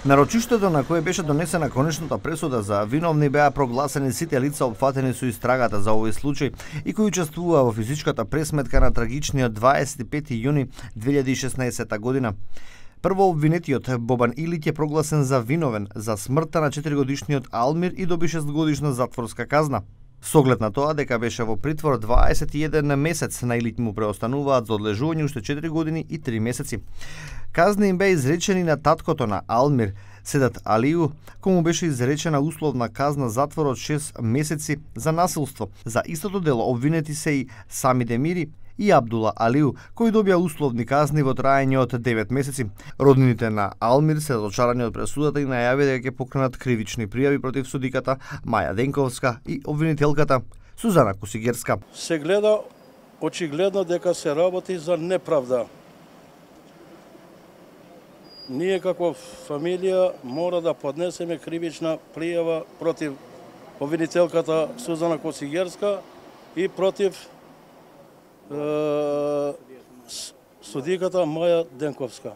На рочиштето на кое беше донесена конечната пресуда за виновни беа прогласени сите лица опфатени со истрагата за овој случај и кои учествуваа во физичката пресметка на трагичниот 25 јуни 2016 година. Прво обвинетиот Бобан Илиќ е прогласен за виновен за смртта на 4-годишниот Алмир и доби 6-годишна затворска казна. Со оглед на тоа дека беше во притвор 21 месец, на Илиќ му преостануваат за одлежување уште 4 години и 3 месеци. Казни им беа изречени на таткото на Алмир, Седат Алију, кому беше изречена условна казна затвор од 6 месеци за насилство. За истото дело обвинети се и Сами Демири и Абдула Алију, кои добија условни казни во траење од 9 месеци. Роднините на Алмир се разочарани од пресудата и најави дека ќе покренат кривични пријави против судиката Маја Денковска и обвинителката Сузана Косигерска. Се гледа очигледно дека се работи за неправда. Ние како фамилија мора да поднесеме кривична пријава против обвинителката Сузана Косигерска и против судиката Маја Денковска.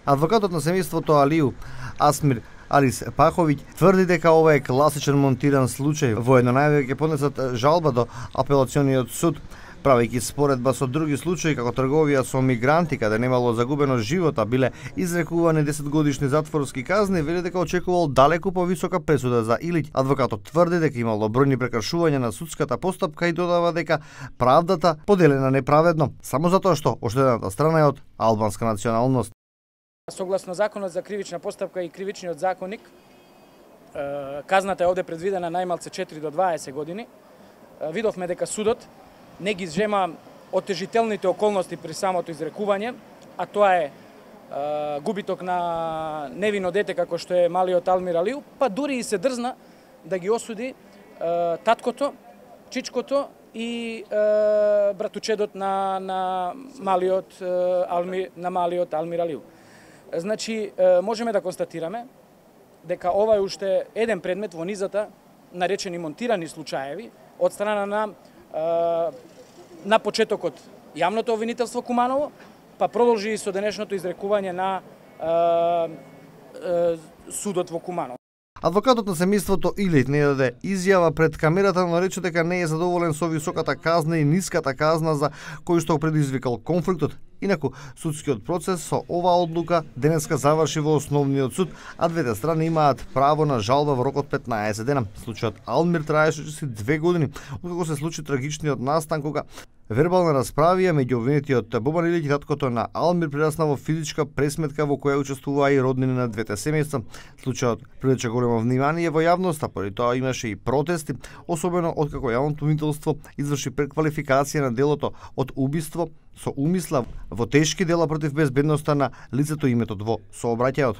Адвокатот на семејството Алију, Асмир Алис Паховиќ, тврди дека ова е класичен монтиран случај. Воедно најавија ќе поднесат жалба до апелациониот суд, правејќи споредба со други случаи како трговија со мигранти каде немало загубено живота, биле изрекувани 10-годишни затворски казни, вели дека очекувал далеку повисока пресуда за Илиќ. Адвокатот тврди дека имало бројни прекршувања на судската постапка и додава дека правдата поделена неправедно, само затоа што оштетената страна е од албанска националност. Согласно законот за кривична постапка и кривичниот законник, казната е овде предвидена најмалце 4 до 20 години. Видовме дека судот не ги зема отежителните околности при самото изрекување, а тоа е губиток на невино дете како што е малиот Алмир Алију, па дури и се дрзна да ги осуди таткото, чичкото и братучедот на малиот Алмир Алију. Значи, можеме да констатираме дека ова е уште еден предмет во низата наречени монтирани случаеви од страна на почетокот јавното обвинителство Куманово, па продолжи и со денешното изрекување на судот во Куманово. Адвокатот на семејството Илиќ не даде изјава пред камерата, но рече дека не е задоволен со високата казна и ниската казна за кој што предизвикал конфликтот. Инаку, судскиот процес со оваа одлука денеска заврши во основниот суд, а двете страни имаат право на жалба во рок од 15 дена. Случајот Алмир траеше 2 години, откако се случи трагичниот настан кога вербална расправија меѓу обвинетиот Бобан Илиќ и таткото на Алмир прерасна во физичка пресметка во која учествуваа и роднини на двете семејства. Случајот привлече големо внимание во јавноста, поради тоа имаше и протести, особено откако јавното обвинителство изврши преквалификација на делото од убиство со умисла во тешки дела против безбедноста на лицето и иметот во сообраќајот.